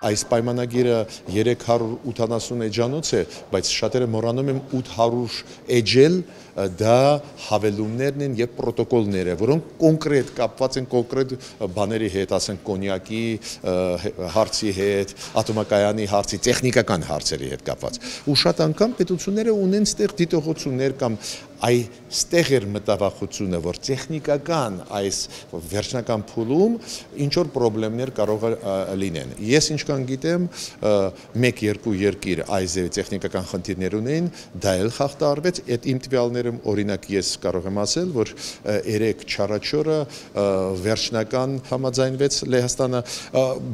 այս պայմանագիրը 380 էջանոց է, բայց շատերը մոռանում են 800 էջել դա հավելումներն են եւ պրոտոկոլները, որոնք կոնկրետ կապված են կոնկրետ բաների հետ, ասենք կոնյակի հարցի հետ, ատոմակայանի հարցի, տեխնիկական հարցերի հետ կապված։ Ու շատ անգամ պետությունները ունեն ստեղ դիտողություններ կամ այստեղ էր մտավախությունը, որ տեխնիկական այս վերջնական փուլում ինչ որ խնդիրներ կարող լինեն։ Ես ինչքան գիտեմ, 1-2 երկիր այս տեխնիկական խնդիրներ ունեն, դա էլ խախտարվեց, այդ իմ տվյալներում օրինակ ես կարող եմ ասել, որ 3-4-օրը վերջնական համաձայնվեց Լեհաստանը,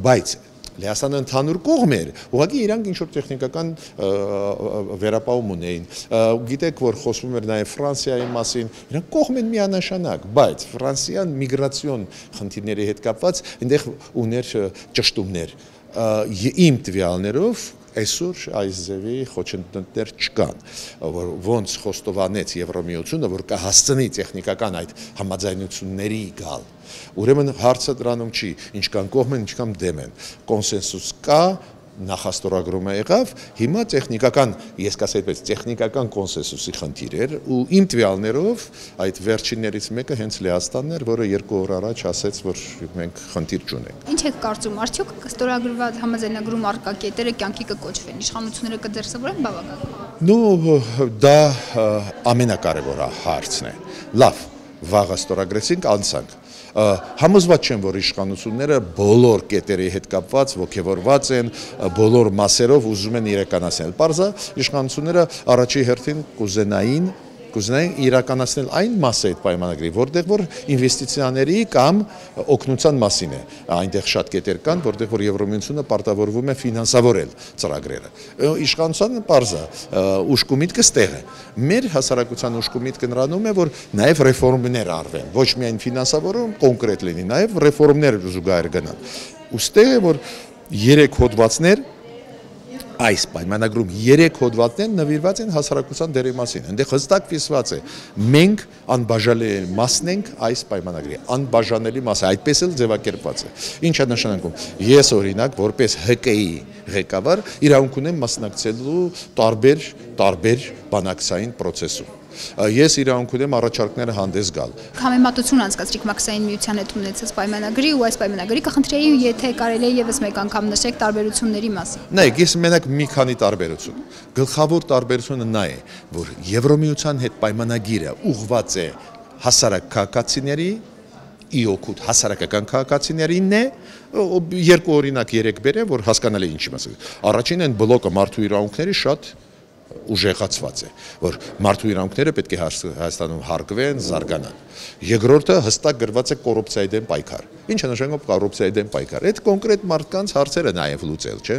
բայց Լեհաստանը ընդհանուր կողմ էր, ուղղակի իրանք ինչ-որ տեխնիկական վերապահում ունեին։ Գիտեք, որ խոսվում էր նաև Ֆրանսիայի մասին, իրանք կողմ են միանշանակ, բայց Ֆրանսիան միգրացիոն խնդիրների հետ կապված այնտեղ ուներ ճշտումներ։ Իմ տվյալներով այսօր այս ձևի խոչընդոտներ չկան, որ ոնց խոստովանեց Եվրամիությունը, որ կհասցնի տեխնիկական այդ համաձայնությունների գալ։ Ուրեմն հարցը դրանում չի, ինչքան կողմ են, ինչքան դեմ են։ Կոնսենսուս կա, նախաստորագրումը եղավ, հիմա տեխնիկական, ես կասեի այդպես, տեխնիկական կոնսենսուսի խնդիր էր ու իմ տվյալներով այդ վերջիններից մեկը հենց Լեհաստանն էր, որը 2 օր առաջ ասեց, որ մենք խնդիր չունենք։ Ինչ եք կարծում, արդյոք ստորագրված համաձայնագրում առկա կետերը կյանքի կկոչվեն, իշխանությունները կդրսևորեն բավական։ Ну, դա ամենակարևոր հարցն է։ Լավ, վաղը ստորագրեցինք, անցանք։ Համոզված չեմ, որ իշխանությունները բոլոր կետերի հետ կապված ողջավորված են, բոլոր մասերով ուզում են իրականացնել։ Պարզա իշխանությունները առաջի հերթին կուզենային իրականացնել այն մասը այդ պայմանագրի, որտեղ որ ինվեստիցիաների կամ օգնության մասին է։ Այնտեղ շատ կետեր կան, որտեղ որ Եվրամիությունը պարտավորվում է ֆինանսավորել ծրագրերը։ Իշխանությունը պարզա ուշք ու միտքը ստեղ է։ Մեր հասարակության ուշք ու միտքը նրանում է, որ նաև ռեֆորմներ արվեն, ոչ միայն ֆինանսավորում կոնկրետ լինի, նաև ռեֆորմներ զուգահեռ գնան։ Ուստեղ է, որ 3 հոդվածներ այս պայմանագրում 3 հոդվածներ նվիրված են հասարակության դերի մասին։ Այնտեղ հստակ կիսված է. մենք անբաժանելի մասն ենք այս պայմանագրի, անբաժանելի մաս է, այդպես էլ ձևակերպված է։ Ինչ է նշանակում։ Ես օրինակ որպես ՀԿ-ի ղեկավար իրավունք ունեմ մասնակցելու տարբեր բանակցային process-ում։ Ես իրավունք ունեմ առաջարկները հանդես գալ։ Համեմատություն անցկացրիք Մաքսային միության հետ ունեցած պայմանագրի ու այս պայմանագրի կխնդրեի, եթե կարելի է եւս մեկ անգամ նշեք տարբերությունների մասին։ Նայեք, ես մենակ մի քանի տարբերություն։ Գլխավոր տարբերությունը նա է, որ Եվրամիության հետ պայմանագիրը ուղղված է հասարակ քաղաքացիների իօգուտ հասարակական քաղաքացիներին է, երկու օրինակ 3 բերեմ, որ հասկանալի ինչի մասին։ Առաջինն են բլոկը մարդու իրավունքների շատ ուժեղացված է, որ մարդու իրավունքները պետք է Հայաստանում հարգվեն, զարգանան։ Երկրորդը հստակ գրված է կոռուպցիայի դեմ պայքար։ Ինչ է նշանակում կոռուպցիայի դեմ պայքար։ Այդ կոնկրետ մարդկանց հարցերը նաև լուծել, չէ՞,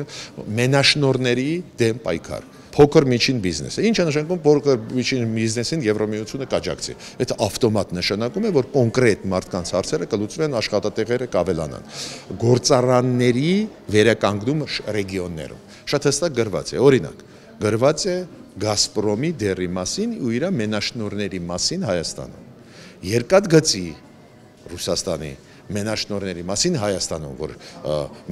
մենաշնորհների դեմ պայքար։ Փոքր միջին բիզնեսը։ Ինչ է նշանակում փոքր միջին բիզնեսին Եվրամիությունը կաջակցի։ Այդ ավտոմատ նշանակում է, որ կոնկրետ մարդկանց հարցերը կլուծվեն, աշխատատեղերը կավելանան։ Գործարանների վերականգնում ռեգիոններում։ Շատ հստակ գրված է, օրինակ գրված է Գազպրոմի դերի մասին ու իր մենաշնորհների մասին Հայաստանում։ Երկաթգծի Ռուսաստանի մենաշնորհների մասին Հայաստանում, որ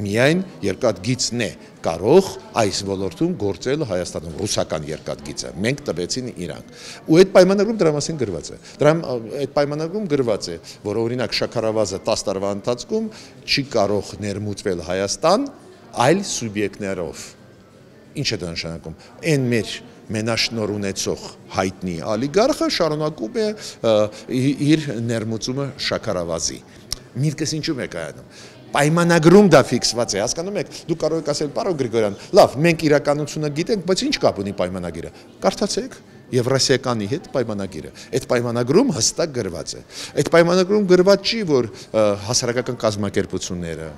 միայն երկաթգիծն է կարող այս ոլորտում գործել Հայաստանում, ռուսական երկաթգիծը։ Մենք տվեցին իրանք։ Ու այդ պայմանագրում դրա մասին գրված է։ Այդ պայմանագրում գրված է, որ օրինակ շաքարավազը 10 տարվա ընթացքում չի կարող ներմուծվել Հայաստան այլ սուբյեկտներով։ Ինչ է դա նշանակում։ Այն մեր մենաշնոր ունեցող հայտնի ալիգարխը շարունակում է իր ներմուծումը շաքարավազի։ Միտքս ինչու է կայանում։ Պայմանագրում դա ֆիքսված է, հասկանում եք, դու կարող եք ասել, պարոն Գրիգորյան, լավ, մենք իրականությունը գիտենք, բայց ինչ կապ ունի պայմանագիրը։ Կարդացեք Եվրասիականի հետ պայմանագիրը։ Այդ պայմանագրում հստակ գրված է։ Այդ պայմանագրում գրված չի, որ հասարակական կազմակերպությունները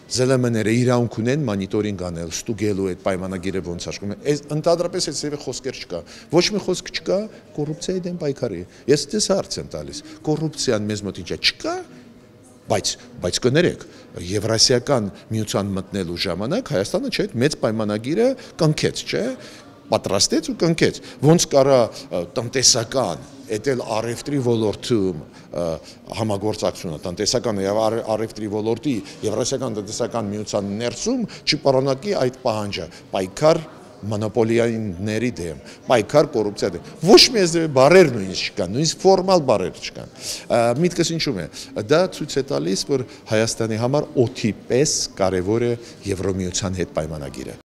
ԶԼՄ-ները իրավունք ունեն մոնիտորինգ անել, ստուգելու այդ պայմանագիրը ոնց աշխատում է։ Ընդհանրապես այդ ծավալի խոսքեր չկա։ Ոչ մի խոսք չկա կոռուպցիայի դեմ պայքարի։ Ես դες հարց եմ տալիս։ Կոռուպցիան մեզ մոտ ինչ է, չկա, բայց կներեք, Եվրասիական միության մտնելու ժամանակ Հայաստանը չէ, մեծ պայմանագիրը կնքեց, չէ։ պատրաստեց ու կնքեց, ոնց կարա տնտեսական Էտել առևտրի ոլորտում համագործակցությունը տնտեսական եւ առևտրի ոլորտի Եվրասիական տնտեսական միության ներսում չպարունակի այդ պահանջը պայքար մոնոպոլիաների դեմ, պայքար կոռուպցիա դեմ։ Ոչ մի բարեր նույնիսկ չկան, նույնիսկ ֆորմալ բարեր չկան։ Միտքս ինչու՞մ է։ Դա ցույց է տալիս, որ Հայաստանի համար օդի պես կարևոր է Եվրոմիության հետ պայմանագիրը։